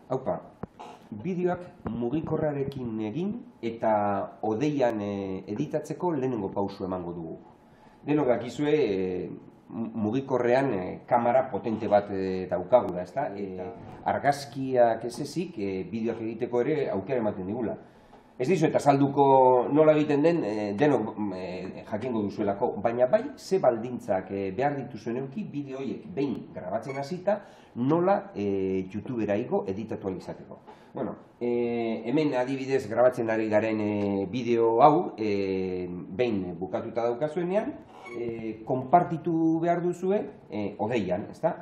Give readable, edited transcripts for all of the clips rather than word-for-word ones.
Haupa, bideoak mugikorrarekin egin eta hodeian editatzeko lehenengo pausu emango dugu. Denok dakizue mugikorrean kamera potente bat daukagula, ezta? Argazkiak ez ezik bideoak egiteko ere aukera ematen digula. Ez dizu eta salduko nola egiten den denok jakingo duzuelako, baina bai ze baldintzak behar dituzuen euki bideo horiek behin grabatzen hasita nola YouTubera igo editatu izateko. Bueno, hemen adibidez grabatzen ari garen bideo hau behin bukatuta daukazuenean, konpartitu behar duzue hodeian, ezta?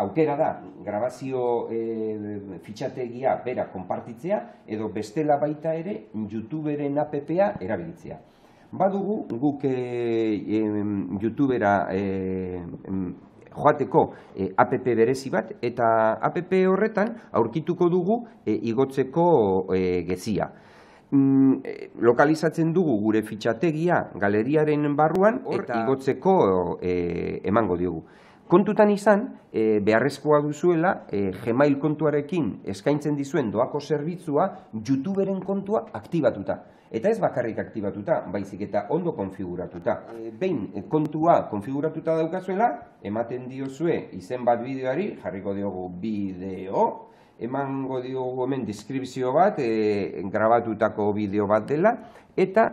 Aukera da, grabazio fitxategia bera konpartitzea edo bestela baita ere YouTuberen app-a erabiltzea. Badugu guk YouTubera joateko app berezi bat eta app horretan aurkituko dugu igotzeko gezia. Lokalizatzen dugu gure fitxategia galeriaren barruan eta igotzeko emango diogu. Kontutan izan, beharrezkoa duzuela Gmail kontuarekin eskaintzen dizuen doako zerbitzua YouTuberen kontua aktibatuta. Eta ez bakarrik aktibatuta, baizik eta ondo konfiguratuta. Behin kontua konfiguratuta daukazuela, ematen diozue izen bat bideoari, jarriko diogu bideo, emango diogu hemen deskripzio bat, grabatutako bideo bat dela, eta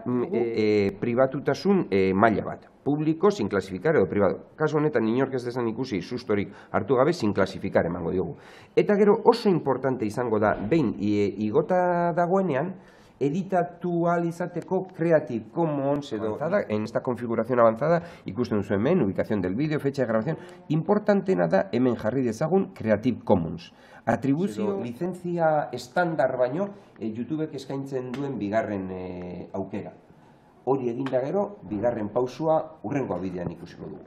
pribatutasun maila bat. Publiko, sin klasifikar edo privado. Kasu honetan inork ez dezan ikusi sustorik hartu gabe sin klasifikar emango diogu. Eta gero oso importante izango da, behin igota dagoenean, editatu ahal izateko Creative Commons edo en esta configuración avanzada ikusten duzu hemen, ubicación del vídeo, fecha de grabación. Importantena da hemen jarri dezagun Creative Commons. Atribuzio lizentzia estandar baino YouTubek eskaintzen duen bigarren aukera. Hori eginda gero, bigarren pausua hurrengo bidean ikusiko dugu.